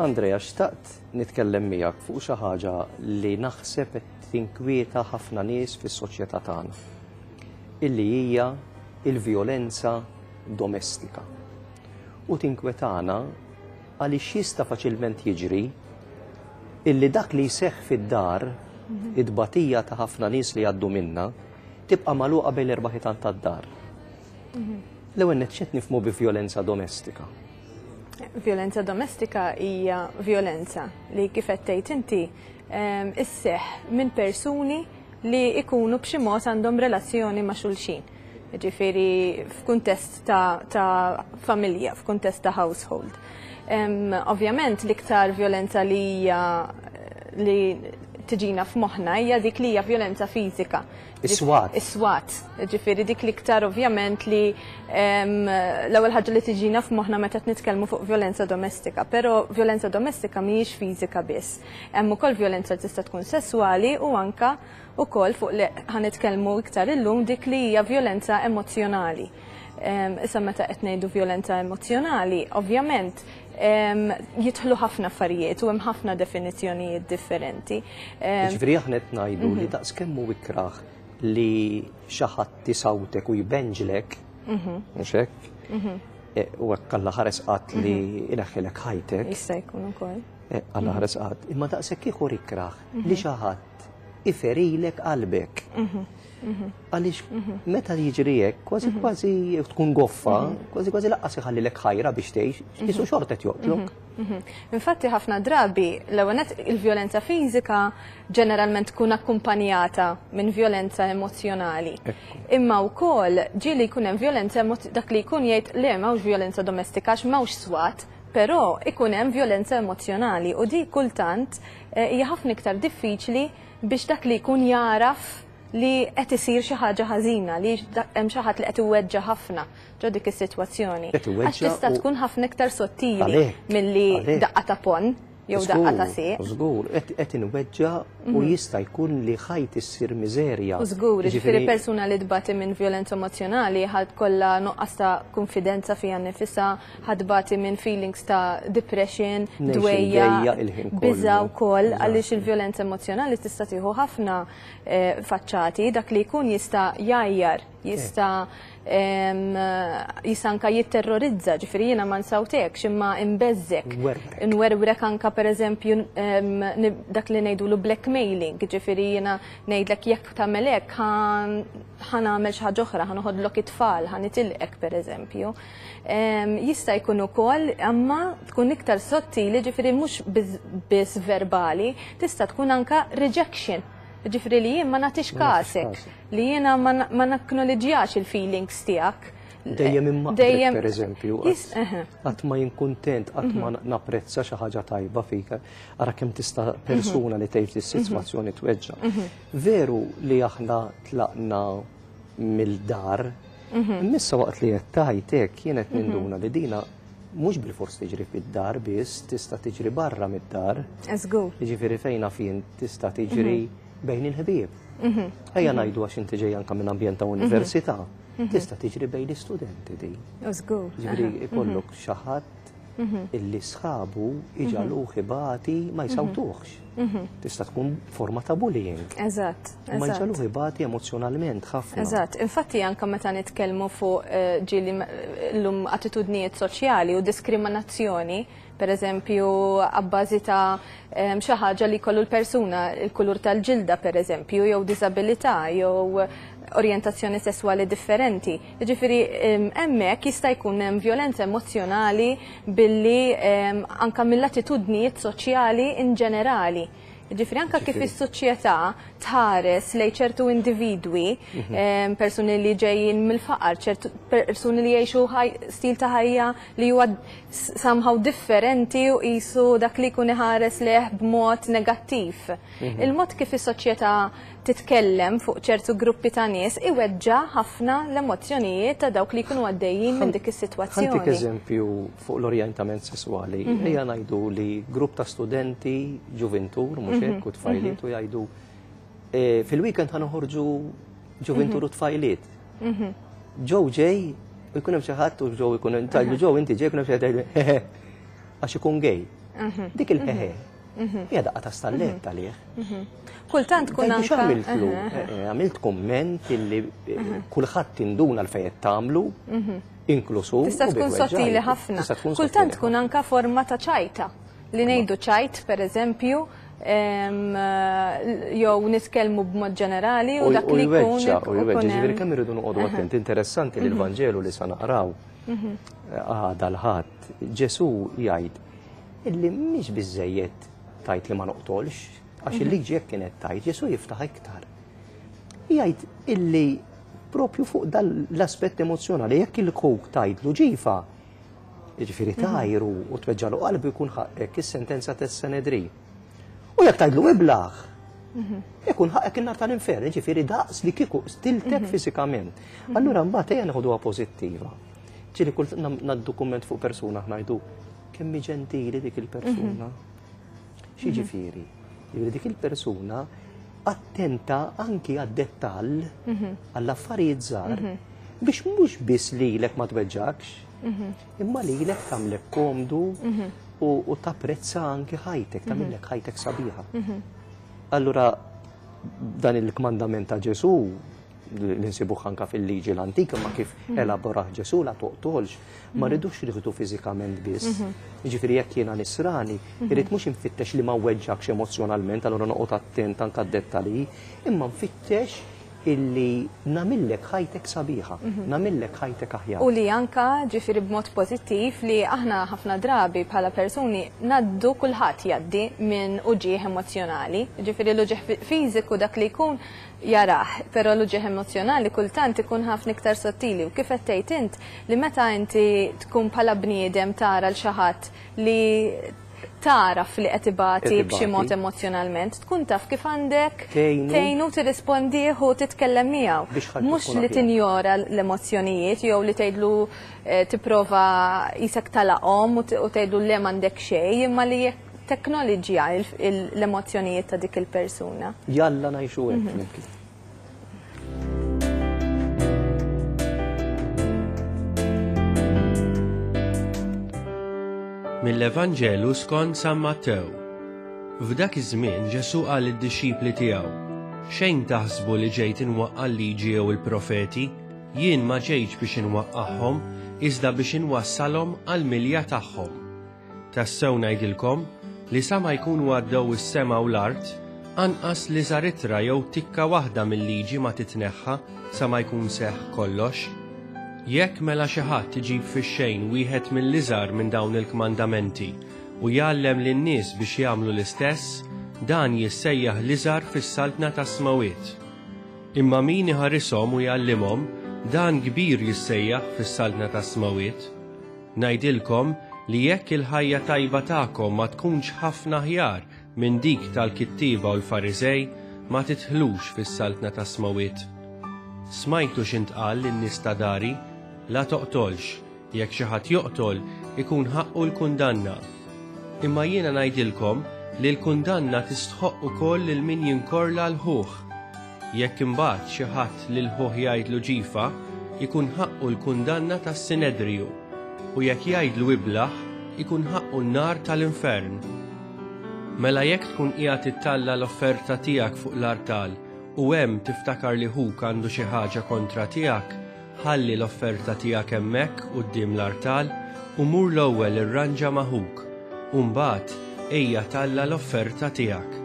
Andrea, xtaqt nitkellem miegħek fuq xi ħaġa li naħseb qed tinkwieta ħafna nies fis-soċjetà tagħna. Illi hija il-vjolenza domestika. U tinkwetana għaliex jista' faċilment jiġri illi dak li jseħħ fid-dar, it-tbatija ta' ħafna nies li jgħaddu minnha, tibqa' magħluqa bejn l-erba' ħitan tad-dar. L-ewwel nett x'qed nifhmu bi vjolenza domestika? Vjolenza domestika hija vjolenza li kif qed tgħid inti ehm, isseħħ minn persuni li jkunu b'xi mod għandhom relazzjoni ma' xulxin. Ġifieri f'kuntest ta', ta familja, f'kuntest ta' household. Ehm, ovvjament l-iktar vjolenza li hija li tiġina f'moħħna hija dik li hija vjolenza fiżika. Is-swat. Is-swat. Ġifieri dik l-iktar ovvjament li l-ewwel ħaġa li tiġina f'moħħna meta qed nitkellmu fuq vjolenza domestika, però vjolenza domestika mhijiex fiżika biss. Hemm ukoll vjolenza li tista' tkun sesswali u anka ukoll fuq li ħa nitkellmu iktar illum dik li hija vjolenza emozzjonali. Issa meta qed ngħidu vjolenza emozzjonali, ovvjament jidħlu ħafna affarijiet u hemm ħafna definizzjonijiet differenti. Ġifieri aħna qed ngħidu li mhm. daqskemm hu ikrah li xi ħadd isawtek u jbenġlek, mhm. mhux hekk? Mhm. E, u hekk Alla ħares qatt li ineħħilek ħajtek. Jista' jkun ukoll. E, Alla ħares qatt, imma daqshekk ieħor ikrah li xi ħadd iferilek qalbek. Għaliex mhm. meta jiġri hekk, kważi mhm. kważi tkun goffa, mhm. kważi kważi laqqas iħallilek ħajra biex tgħix, jisu xorta qed joqtlok. Infatti ħafna drabi l-ewwel il-vjolenza fiżika ġeneralment tkun akkumpanjata minn vjolenza emozjonali. Imma wkoll ġieli jkun hemm vjolenza dak li jkun jgħid le m'hawnx vjolenza domestika għax m'hawnx swat, però ikun hemm vjolenza emozjonali u di kultant eh, hija ħafna iktar diffiċli biex dak li jkun jagħraf li qed isir xi ħaġa ħażina, li hemm xi ħadd li qed iweġġa' ħafna ġo dik is-sitwazzjoni. Għax tista' tkun ħafna iktar sottili milli daqqa ta' ponn jew daqqa ta' sieq. Żgur, qed inweġġa' u mhm. jista' jkun li ħajt issir miżerja. U żgur, jiġifieri persuna li tbati minn vjolenza emozjonali ħadd kollha nuqqas ta' kunfidenza fiha nnifisha, ħa tbati minn feelings ta' depression, dwejja, biża' wkoll għaliex il-vjolenza emozjonali tista' tieħu ħafna eh, faċċati, dak li jkun jista' jgħajjar, jista' jista' anka jitterrorizza, ġifieri jiena ma nsawtekx imma imbeżżek. Nwerwrek anka pereżempju dak li ngħidulu blackmailing, ġifieri jiena ngħidlek jekk tagħmel hekk ħa nagħmel xi ħaġa oħra, ħa noħodlok it-tfal, ħa nitilqek pereżempju. Jista' jkun ukoll imma tkun iktar sottili, ġifieri mhux biss verbali, tista' tkun anka rejection. Ġifieri li jien ma nagħtix kasek, li jiena ma nacknowledġjax il-feelings tiegħek. Dejjem imma dejjem per eżempju, qatt ma jien kuntent, qatt ma mhm. napprezza xi ħaġa tajba fik, ara kemm tista' mhm. persuna li tgħix dis-sitwazzjoni tweġġa'. Mhm. Veru li aħna tlaqna mill-dar. Mhm. Missa waqt li qed tgħid hekk jien qed mhm. ninduna li dina mhux bil-fors tiġri fid-dar biss, tista' tiġri barra mid-dar. Żgur. Jiġifieri fejn fin tista' tiġri mhm. bejn il-ħbieb. Ejja ngħidu għax inti ġej anke minn ambjent ta' università, tista' tiġri bejn l-istudenti din. Żgur. Jiġifieri ikollok xi ħadd Mhm. illi sħabu iġaluh ibati ma jsawtuhx. Mhm. Tista' tkun forma ta' bullying. Eżatt. Ma jġaluh ibati emozjonalment ħafna. Eżatt. Infatti anke meta nitkellmu fuq eh, ġieli llum attitudnijiet soċjali u diskriminazzjoni, per eżempju, abbażi ta' xi ħaġa li jkollu l-persuna, il-kulur tal-ġilda per eżempju, jew diżabilità, jew orjentazzjoni sesswali differenti. Jiġifieri hemmhekk jista' jkun hemm vjolenza emozzjonali billi anke mill-attitudnijiet soċjali in ġenerali. Jiġifieri anke kif is-soċjetà tħares lejn ċertu individwi, mhm. persuni li ġejjin mill-faqar, ċertu persuni li jgħixu stil ta' ħajja li huwa somehow differenti u qisu dak li jkun iħares leh b'mod negattiv. Mhm. Il-mod kif is-soċjetà titkellem fuq ċertu gruppi ta' nies iweġġa' ħafna l-emozzjonijiet ta' dawk li jkunu għaddejjin minn dik is-sitwazzjoni. Ħa ntik eżempju fuq l-orjentament sesswali. Mhm. Ejja ngħidu li grupp ta' studenti ġuvintur, mhux mhm. hekk u tfajliet u jgħidu e, fil-weekend ħa noħorġu ġuvintur u tfajliet. Ġew ġej u jkun hemm xi ħadd u ġew ikun tgħidlu ġew inti ġej jkun hemm xi ħadd għax ikun gay. Mhm. Dik il-ħeħe. Mhm. Hija daqqa ta' stallett mhm. għalih. Kultant tkun anke. Għamiltlu, eh, eh, għamilt komment illi eh, kulħadd induna l-fejn tagħmlu, inklusu. Tista' tkun sottili ħafna. Kultant tkun anka forma ta' ċajta. Li ngħidu ċajt, per eżempju, jew nitkellmu b'mod ġenerali u dak li jkun. U jweġġa, ġifieri kemm irridu noqogħdu attenti. Interessanti li l-Vanġelu li sa naqraw għada l-Ħadd, Ġesù jgħid illi mhix biżejjed tajt li ma noqtolx, għax mhm. il-liġi jekk kienet tajt, Ġesù jiftaħ iktar. Jgħid illi propju fuq dal l-aspett emozjonali, jekk il-kuk tajdlu ġifa, jiġifieri mhm. tajru u tweġġalu qalbu jkun ħaqqek is-sentenza tas-Senedrin. U jekk tajdlu iblaħ, mhm. ikun ħaqqek in-nar tal-infern, jiġifieri daqs li kieku stiltek fiżikament. Allura mbagħad ejja neħoduha pożittiva. Ġieli kull naddu kumment fuq persuna ngħidu kemm hi ġentili dik il-persuna. Mhm. X'jiġifieri? Jiġifieri dik il-persuna attenta anki għad-dettall mhm. għall-affarijiet żgħar mhm. biex mhux biss lilek ma tweġġakx, imma lilek tagħmlek komdu u tapprezza anki ħajtek, tagħmilek ħajtek sabiħa. Allura dan il-kmandament ta' Ġesù li nsibuh anka fil-liġi l-antika ma kif mhm. elaborah Ġesu la toqtolx, ma mhm. rridux nieħdu fiżikament biss. Mhm. Jiġifieri jekk jiena nisrani, irrid mhux infittex li ma weġġakx emozjonalment, allura noqgħod attent anka d-dettalji, imma nfittex illi namillek ħajtek sabiħa, namillek ħajtek aħjar. U li anka ġifieri b'mod pożittiv li aħna ħafna drabi bħala persuni naddu kulħadd jgħaddi minn uġigħ emozzjonali, ġifieri l-uġigħ fiżiku dak li jkun jarah, però l-uġigħ emozzjonali kultant ikun ħafna iktar sottili u kif qed tgħid int li meta inti tkun bħala bniedem tara l xi ħadd li tagħraf li qed ibati b'xi mod emozzjonalment, tkun taf kif għandek tgħinu tirrispondih u titkellem miegħu. Mhux li tinjora l-emozzjonijiet jew li tgħidlu eh, tipprova qisek talaqhom u tgħidlu le m'għandek xejn, imma li jekk teknoloġija l-emozzjonijiet ta' dik il-persuna. Jalla ngħixu hekk mhm. flimkien. Mill-Evanġelu skont San Mattew. F'dak iż-żmien Ġesù qal lid-dixxipli tiegħu, Xejn taħsbu li ġejt inwaqqa' l-liġi jew il-profeti, jien ma ġejtx biex inwaqqagħhom, iżda biex inwassalhom għall-milja tagħhom. Tassew ngħidilkom li sa ma jkunu għaddew is-sema u l-art, anqas l-iżgħar ittra jew tikka waħda mil-Liġi ma titneħħa sa ma jkun seħħ kollox. Jekk mela xi ħadd iġib fix-xejn wieħed mill-iżgħar minn dawn il-kmandamenti u jgħallem lin-nies biex jagħmlu l-istess, dan jissejjaħ l-iżgħar fis-saltna tas-smewwiet. Imma min iħarishom u jgħallimhom, dan kbir jissejjaħ fis-saltna tas-smewwiet. Ngħidilkom li jekk il-ħajja tajba tagħkom ma tkunx ħafna aħjar minn dik tal-kittieba u l-Fariżej, ma tidħlux fis-Saltna tas-Smewwiet. Smajtu x'intqal lin-nies ta' dari, 'La toqtolx, jekk xi ħadd joqtol, ikun ħaqqu l-kundanna. Imma jiena ngħidilkom li l-kundanna tistħoqq ukoll lil min jinkorla 'l ħuh. Jekk imbagħad xi ħadd lil ħuh jgħidlu ġifa, ikun ħaqqu l-kundanna tas-Sinedriju, u jekk jgħidlu iblah, ikun ħaqqu n-nar tal-infern. Mela jekk tkun qiegħed ittalla' l-offerta tiegħek fuq l-artal u hemm tiftakar li ħuk għandu xi ħaġa kontra tiegħek, ħalli l-offerta tiegħek hemmhekk quddiem l-artal u mur l-ewwel irranġa ma' ħuk, u mbagħad ejja talla' l-offerta tiegħek.